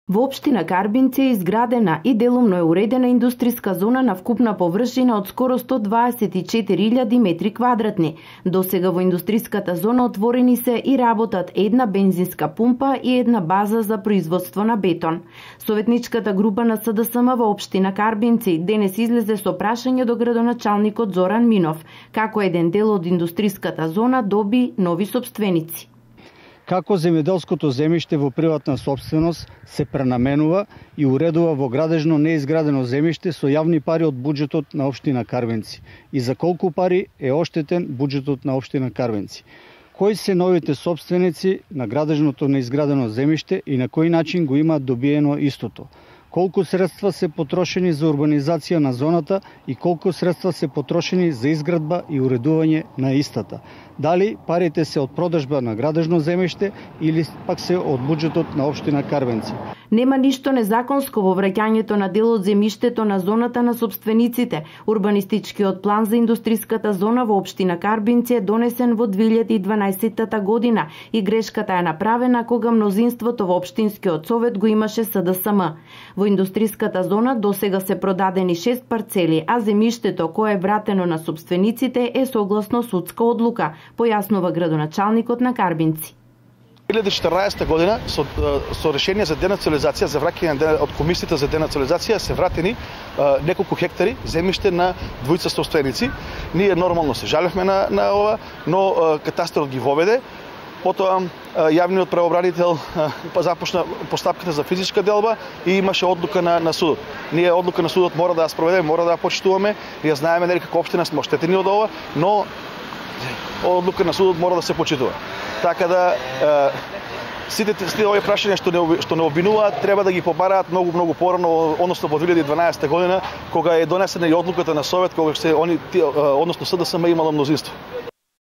Во општина Карбинци е изградена и делумно е уредена индустријска зона на вкупна површина од скоро 124.000 метри квадратни. Досега во индустријската зона отворени се и работат една бензинска пумпа и една база за производство на бетон. Советничката група на СДСМ во општина Карбинци денес излезе со прашање до градоначалникот Зоран Минов, како еден дел од индустријската зона доби нови сопственици. Како земјоделското земјиште во приватна сопственост се пренаменува и уредува во градежно неизградено земјиште со јавни пари од буџетот на општина Карбинци и за колку пари е оштетен буџетот на општина Карбинци. Кои се новите сопственици на градежното неизградено земјиште и на кој начин го имаат добиено истото? Колку средства се потрошени за урбанизација на зоната и колку средства се потрошени за изградба и уредување на истата? Дали парите се од продажба на градежно земјиште или пак се од буџетот на општина Карбинци? Нема ништо незаконско во враќањето на дел од земјиштето на зоната на сопствениците. Урбанистичкиот план за индустријската зона во општина Карбинци е донесен во 2012 година и грешката е направена кога мнозинството во општинскиот совет го имаше СДСМ. Во индустријската зона досега се продадени 6 парцели, а земјиштето кое е вратено на сопствениците е согласно судска одлука, појаснува градоначалникот на Карбинци. 2014 година со решение за денационализација, за враќање од комисијата за денационализација се вратени неколку хектари земјиште на двојца сопственици. Ние нормално се жалевме на ова, но катастарот ги воведе. Потоа јавниот правобранител започна постапката за физичка делба и имаше одлука на судот. Ние одлука на судот мора да ја спроведеме, мора да ја почитуваме. Ја знаеме нели како општина сме оштетени од ова, но одлука на судот мора да се почитува. Така да сите овие прашања што не обвинуваат треба да ги побараат многу порано, односно во 2012 година кога е донесена и одлуката на совет, кога односно СДСМ имало мнозинство.